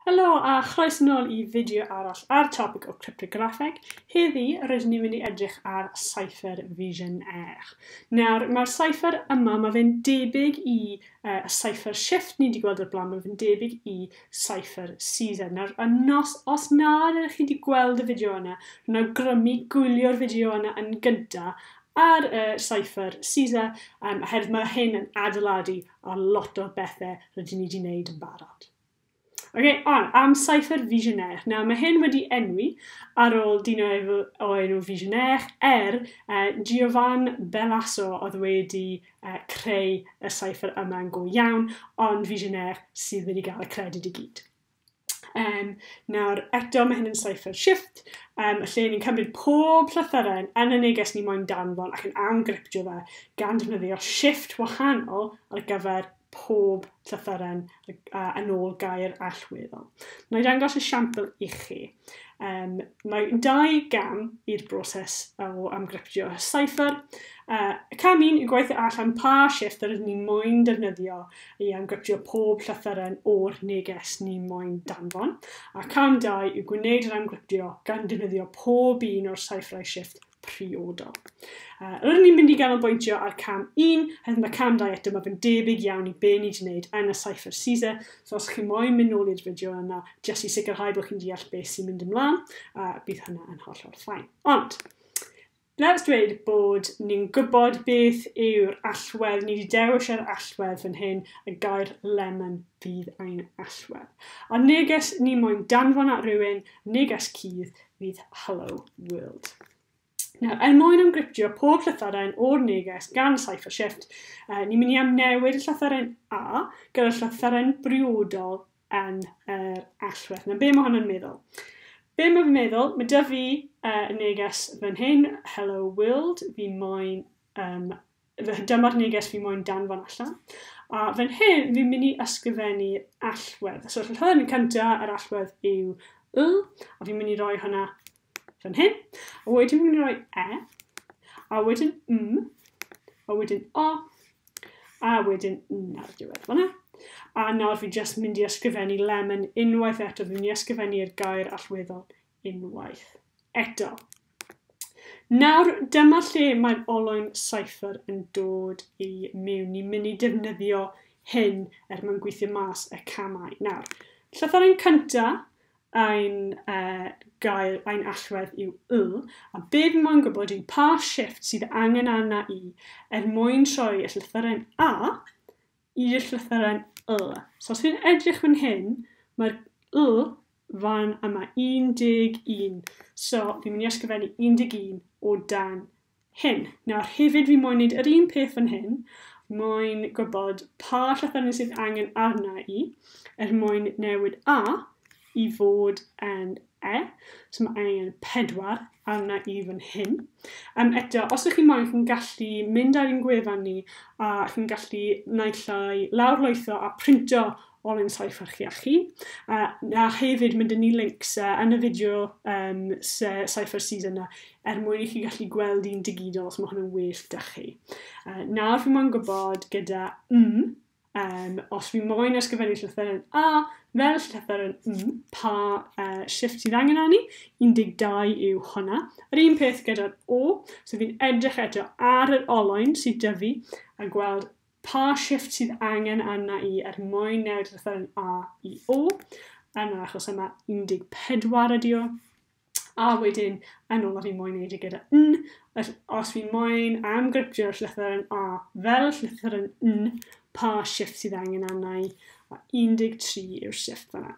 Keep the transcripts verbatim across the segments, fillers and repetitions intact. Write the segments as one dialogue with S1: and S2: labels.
S1: Helo a chroeso nôl i fideo arall ar topic o cryptograffeg. Heddi, rydyn ni'n mynd i edrych ar cipher Vigenère. Nawr, mae'r cipher yma, mae fe'n debyg i uh, y cipher Shift ni wedi gweld o'r blaen, mae fe'n debyg i cipher Caesar. Nawr, nos, os nad ydych chi wedi gweld y fideo yna, rwy'n awgrymu gwylio'r fideo yna yn gyntaf ar y uh, cipher Caesar, um, oherwydd mae hyn yn adeiladu ar lot o bethau rydyn ni wedi wneud yn barod. Okay, ond am cipher Vigenère. Nawr, mae hyn wedi enwi ar ôl dyn o, o enw Vigenère, er uh, Giovan Bellaso oedd wedi uh, creu y cipher yma yn go iawn, ond Vigenère sydd wedi gael y credyd i gyd. Um, nawr, eto mae hyn yn cipher Shift, um, lle ni'n cymryd pob llythyren yn y neges ni moyn danfon ac yn amgryptio fe gan defnyddio shift wahanol ar gyfer pob llythyren uh, yn ôl gair allweddol. Na i dangos esiampl i chi. Um, mae dau gam i'r broses o amgryptio cipher. Uh, cam un yw gweithio allan pa shift yr ydyn ni moyn defnyddio i amgryptio pob llythyren o'r neges ni moyn danfon. A cam dau yw gwneud yr amgryptio gan defnyddio pob un o'r cipherau shift priodol. Uh, rydyn ni'n mynd i ganolbwyntio ar cam un, hefyd mae cam dau eto, mae fe'n debyg iawn i be ni wedi wneud yn y cipher Caesar, so os chi moyn mynd nôl i'r fideo yna, jyst i sicrhau bod chi'n deall beth sy'n mynd ymlaen, uh, bydd hynna yn hollol fine. Ond, let's dweud bod ni'n gwybod beth yw'r allwedd, ni wedi dewis yr allwedd fan hyn, y gair lemon fydd ein allwedd. A neges ni moyn danfon at rhywun, neges cudd fydd "Hello World". Nawr, er mwyn amgryptio pob llythyren o'r neges gan cipher Shift, uh, ni'n mynd i amnewid y llythyren A gyda'r llythyren briodol yn yr allwedd. Nawr, be mae hwn yn meddwl? Be mae fe'n meddwl? Mae 'da fi uh, neges fan hyn, "Hello World", fi moyn, um, dyma'r neges fi moyn danfon allan. A fan hyn, fi'n mynd i ysgrifennu allwedd. So, llythyren cyntaf yr allwedd yw Y, a fi'n mynd i roi hwnna fan hyn. A wedyn fi'n mynd i roi E, a wedyn M, a wedyn O, a wedyn N ar y diwedd fan'na. A nawr fi jyst mynd i ysgrifennu lemon unwaith eto. Fi'n mynd i ysgrifennu'r gair allweddol unwaith eto. Nawr, dyma lle mae'r olwyn cipher yn dod i mewn. Ni'n mynd i defnyddio hyn er mwyn gweithio mas y camau. Nawr, llythyren cyntaf ein uh, gair, ein allwedd yw Y, a be fi moyn gwybod yw pa shift sydd angen arna i er mwyn troi y llythyren A i'r llythyren Y. So os fi'n edrych fan hyn, mae'r Y fan yma, un deg un. So fi'n mynd i ysgrifennu un deg un o dan hyn. Nawr hefyd fi moyn wneud yr un peth fan hyn, moyn gwybod pa llythyren sydd angen arna i er mwyn newid A i fod yn E. So mae angen pedwar arna i fan hyn. Um, eto, os ydych chi'n moyn, chi'n gallu mynd ar ein gwefan ni a chi'n gallu naill ai lawrlwytho a printo olwyn cipher chi a chi. Uh, a hefyd mynd ni links uh, yn y fideo um, cipher Caesar yna er mwyn i chi gallu gweld un digidol os mae hwn yn well 'da chi. Uh, nawr fi moyn gwybod gyda M, um, os fi moyn ysgrifennu llythyren A fel llythyren M, pa uh, shift sydd angen arni, un deg dau yw hwnna. Yr un peth gyda'r O, so fi'n edrych eto ar yr olwyn sydd 'da fi a gweld pa shift sydd angen arna i er mwyn newid llythyren A i O. Yn yr achos yma, un deg pedwar ydi o. A wedyn, yn ôl fi moyn neud e gyda N, os fi moyn amgryptio'r llythyren A fel llythyren N, pa shift sydd angen arna i, a un deg tri yw'r shift fan'na.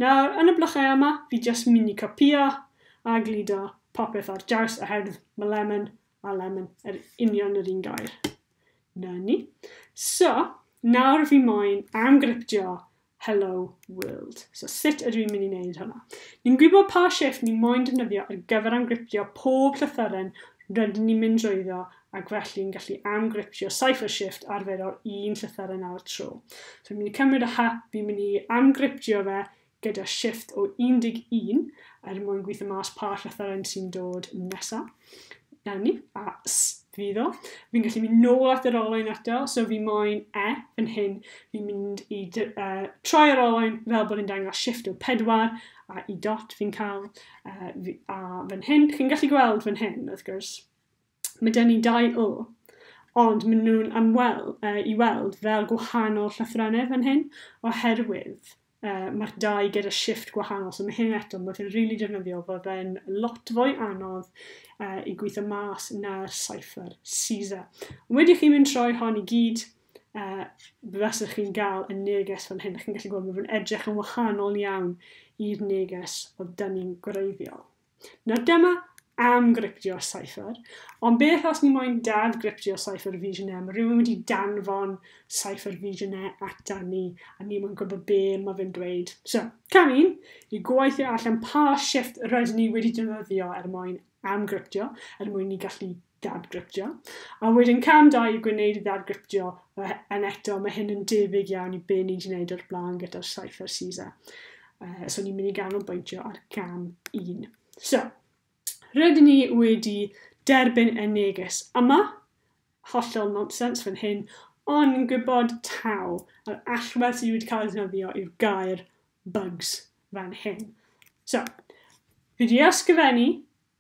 S1: Nawr, yn y blychau yma, fi jyst mynd i copio a gludo popeth ar draws oherwydd mae lemon a lemon yr union yr un gair. Na ni. So, nawr fi moyn amgryptio "Hello World". So sut ydw i'n mynd i wneud hwnna? Ni'n gwybod pa shift ni'n moyn defnyddio ar gyfer amgryptio pob llythyren rydyn ni'n mynd drwyddo ac felly yn gallu amgryptio cipher Shift arferol un llythyren ar y tro. So fi'n mynd i cymryd y H, fi'n mynd i amgryptio fe gyda shift o un deg un er mwyn gweithio mas pa llythyren sy'n dod nesaf. Na ni, a S fydd o. Fi'n gallu mynd nôl at yr olwyn eto, so fi moyn E fan hyn. Fi'n mynd i uh, troi yr olwyn fel bod yn dangos shift o pedwar, a i dot fi'n cael. Uh, fi, a fan hyn, chi'n gallu gweld fan hyn, wrth gwrs, mae gen ni dau O, ond maen nhw'n amwel, uh, i weld fel gwahanol llythrennau fan hyn, oherwydd uh, mae'r dau gyda shift gwahanol. So mae hyn eto, mae fe'n rili really defnyddiol, fod fe'n lot fwy anodd uh, i gweithio mas na'r cipher Caesar. Wedi chi mynd troi hon i gyd, uh, fasech chi'n gael y neges fan hyn. Chi'n gallu gweld mae fe'n edrych yn wahanol iawn i'r neges oedd dyn ni'n gwreiddiol. Nawr dyma amgryptio'r cipher, ond beth os ni moyn dadgryptio'r cipher Vigenère? Mae rhywun wedi danfon cipher Vigenère ata ni, a ni moyn gwybod be mae fe'n dweud. So, cam un, i gweithio allan pa shift rydyn ni wedi defnyddio er mwyn amgryptio, er mwyn ni gallu dadgryptio. A wedyn cam dau i gwneud i ddadgryptio, yn eto mae hyn yn debyg iawn i be ni wedi gwneud o'r blaen gyda'r cipher Caesar. Uh, so ni'n mynd i ganolbwyntio ar cam un. So, rydyn ni wedi derbyn y neges yma, hollol nonsense fan hyn, ond yn gwybod taw, yr allwedd sydd wedi cael ei ddefnyddio yw'r gair bugs fan hyn. So, fi wedi ysgrifennu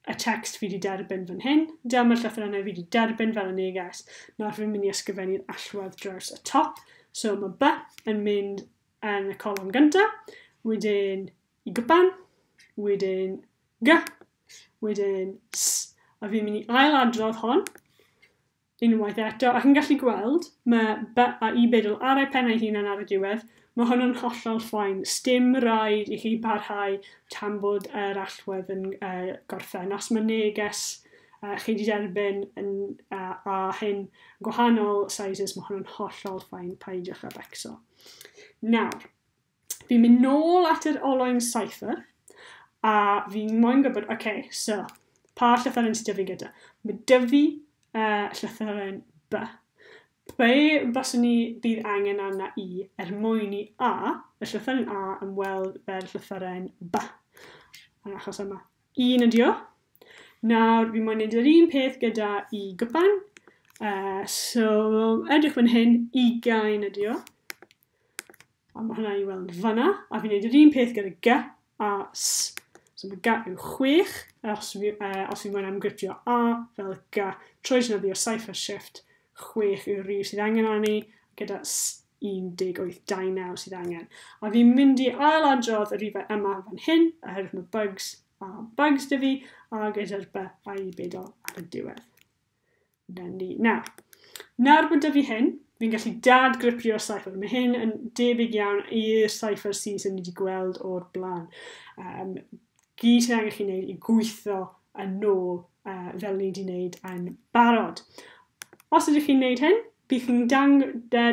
S1: y text fi wedi derbyn fan hyn, dyma'r llythrennau fi wedi derbyn fel y neges. Nawr fi'n mynd i ysgrifennu'r allwedd draws y top. So mae B yn mynd yn y colofn gyntaf, wedyn i gwpan, wedyn G, wedyn S. A fi'n mynd i ailadrodd hon unwaith eto, a chi'n gallu gweld mae B a I bedol ar ei pen ei hunan ar y diwedd. Mae hwn yn hollol fine. Sdim rhaid i chi parhau tan bod yr allwedd yn uh, gorffen. Os mae neges uh, chi wedi derbyn yn, uh, a hyn gwahanol sizes, mae hwn yn hollol fine. Peidiwch â becso. Nawr, fi'n mynd nôl at yr olwyn cipher, a fi'n moyn gwybod, oce, okay, so, pa llythyren sydd 'da fi gyda? Mae 'da fi uh, llythyren B. Be baswn ni bydd angen arna i er mwyn i A, y llythyren A, yn weld fel llythyren B. Yn achos yma, un ydi o. Nawr, fi moyn neud yr un peth gyda i gwpan. Uh, so, edrych fan hyn, ugain ydi o. A mae hwnna i weld fanna. A fi'n neud yr un peth gyda G a S. So mae G yw chwech, os fi, uh, os fi moyn amgryptio A fel G, trwy defnyddio cipher shift, chwech yw'r rhif sydd angen arni, gyda S un deg wyth dau naw sydd angen. A fi'n mynd i ailadrodd y rhifau yma fan hyn, oherwydd mae bugs a bugs 'da fi, a gyda'r B a I bedol ar y diwedd. Na ni. Nawr, nawr bod 'da fi hyn, fi'n gallu dadgryptio'r cipher. Mae hyn yn debyg iawn i'r cipher C sydd ni wedi gweld o'r blaen. Um, gyd sydd angen chi wneud i gweithio yn ôl uh, fel ni wedi wneud yn barod. Os ydych chi'n wneud hyn, bydd chi'n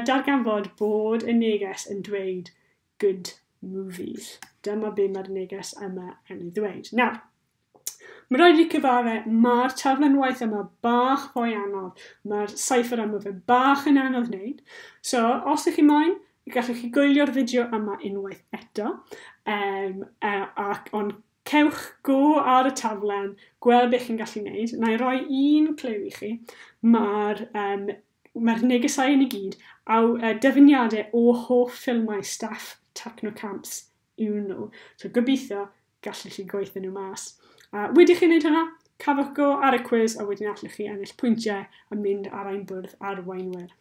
S1: darganfod bod y neges yn dweud good movies. Dyma be mae'r neges yma yn ei ddweud. Nawr, mae rhaid i cyfadde, mae'r taflen waith yma bach fwy anodd. Mae'r cipher yma fe bach yn anodd wneud. So, os ydych chi moyn, gallwch chi gwylio'r fideo yma unwaith eto. Um, uh, ac, ond cewch go ar y taflen, gweld beth chi'n gallu gwneud. Na i roi un cliw i chi. Mae'r um, mae'r negesau yn i gyd a uh, dyfyniadau o hoff ffilmau staff Technocamps yw nhw. So gobeithio gallwch chi gweithio nhw mas. Uh, wedi chi wneud hynna, cafwch go ar y cwis a wedyn allwch chi ennill pwyntiau a mynd ar ein bwrdd arweinwyr.